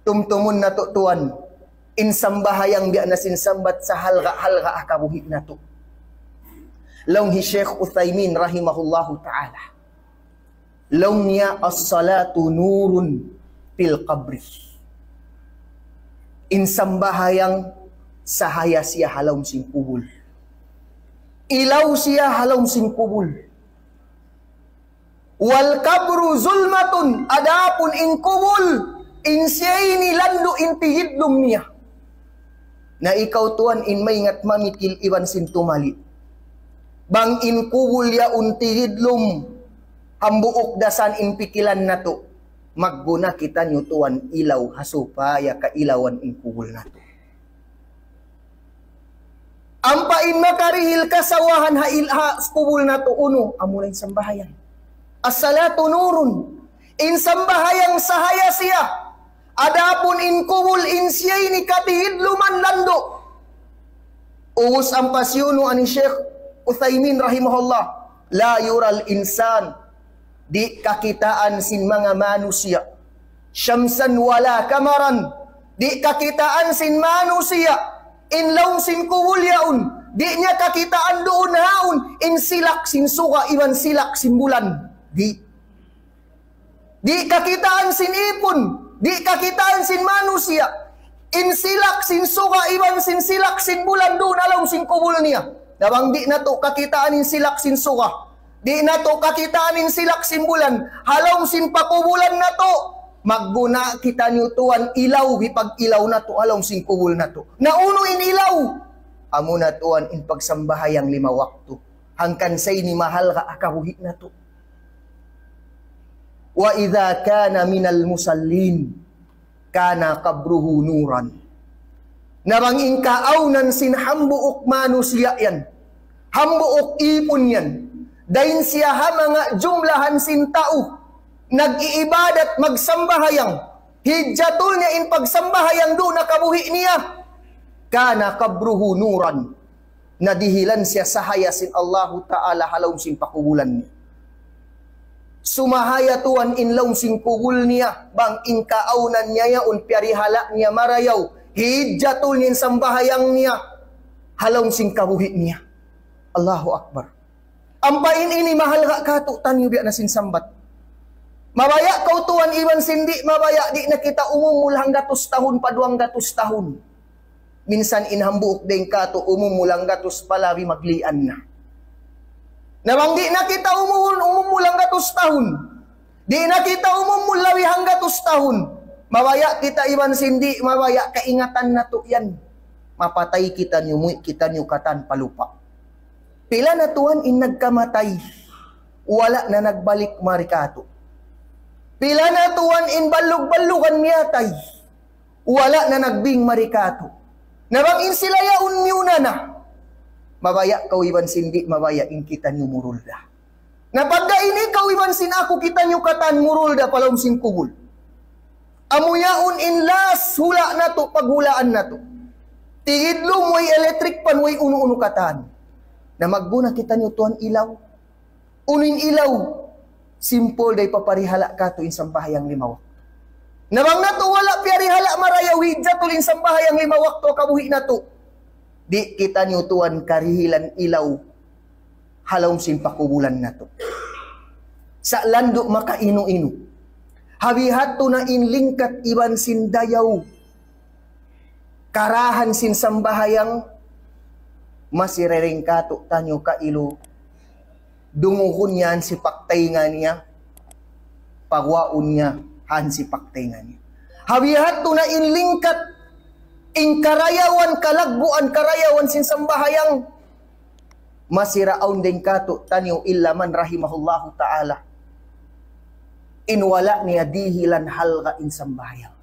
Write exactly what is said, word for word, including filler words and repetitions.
Tumtumun natu' tuwan, in sambahayang biya' na sin sambat sa halga'-halga' ha kabuhi' natu'. Laung hi Sheikh Uthaymin rahimahullahu ta'ala. Laung niya, "As-salatu nurun fil qabri." In sambahayang sahaya siya ha lawm sin kubul. Ilaw siya ha lawm sin kubul. "Wal qabru zulmatun," adapun in kubul, in siya ini landu' in tigidlum niya. Na ikaw tuwan in maingat mamikil iban sin tumali. Bang in kubul yaun tigidlum, hambuuk da san in pikilan natu', magguna kitaniyu tuwan ilaw ha supaya kailawan in kubul natu'. Ampa in makarihil kasawahan ha il-, ha kubul natu' unu, amuna in sambahayang. As-salatu nurun. In sambahayang sahaya siya. Adapun in kubul in siya ini katigidluman landu'. Ubus ampa siyunu ani Sheikh Uthaymin rahimahullah, "La yural insan," di' kakitaan sin manga manusiya'. "Shamsan wala kamaran," di' kakitaan sin manusiya' in lawm sin kubul yaun. Di' niya kakitaan duun haun in silak sin suga iban silak sin bulan. Di'. Di' kakitaan sin ipun, di' kakitaan sin manusiya'. In silak sin suga iban sin silak sin bulan duun ha lawm sin kubul niya. Na bang di' natu' kakitaan in silak sin suga, di' natu' kakitaan in silak sin bulan ha lawm sin pakubulan natu', magguna kitaniyu tuwan ilaw, hipag-ilaw natu' ha lawm sin kubul natu'. Na unu in ilaw? Amuna tuwan in pagsambahayang lima waktu. Hangkan sa ini mahalga' ha kabuhi' natu'. "Wa idha kana minal musallin, kana qabruhu nuran." Na bang in kaawnan sin hambuuk manusiya' yan, hambuuk ipun yan, dayn siya ha manga jumlahan sin tau nag-iibadat, magsambahayang, hidjatul niya in pagsambahayang duun ha kabuhi' niya, kana qabruhu nuran, na dihilan siya sahaya sin Allahu Ta'ala ha lawm sin pakubulan niya. Sumahaya tuwan in lawm sin kubul niya, bang in kaawnan niya yaun piyarihala' niya marayaw, hidjatul in sambahayang niya ha lawm sin kabuhi' niya. Allahu Akbar. Ampa in ini mahalga' kātu'niyu biya' na sin sambat. Mabaya' kaw tuwan iban sin di' mabaya', di' na kita umumul hanggatus tahun pa duwanggatus tahun. Minsan in hambuuk dayn kātu' umumul hanggatus pa labi maglian na. Na bang di' na kita umumul, umumul hanggatus tahun, di' na kita umumul labi hanggatus tahun, mabaya' kita iban sin di' mabaya', kaingatan natu' yan. Mapatay kitaniyu, muwi' kitaniyu katan pa lupa'. Pila na tuwan in nagkamatay, wala' na nagbalik mari kātu'. Pila na tuwan in ballug-ballugan miyatay, wala' na nagbing mari kātu'. Na bang in sila yaun miyuna na, mabaya' kaw iban sin di' mabaya', in kitaniyu murul da. Na pagga ini kaw iban sin aku, kitaniyu katan murul da pa lawm sin kubul. Amu yaun in last hula' natu', paghulaan natu'. Tigidlum, way electric fan, way unu-unu katan. Na magguna kitaniyu tuwan ilaw. Unu in ilaw? Simple da, hipaparihala' kātu' in sambahayang lima waktu. Na bang natu' wala' piyarihala' marayaw, hidjatul in sambahayang lima waktu ha kabuhi' natu', di' kitaniyu tuwan karihilan ilaw ha lawm sin pakubulan natu'. Sa' landu' makainu-inu. Ha bihadtu na in lingkat iban sin dayaw, karahan sin sambahayang, masi dayn kātu'niyu kailu, dungugun niya hansipak taynga niya, paguwaun niya hansipak taynga niya. Ha bihadtu na in lingkat, in karayawan, kalagguan, karayawan sin sambahayang, masi da awn dayn kātu'niyu illa man rahimahullahu ta'ala, in wala' niya dihilan halga' in sambahayang.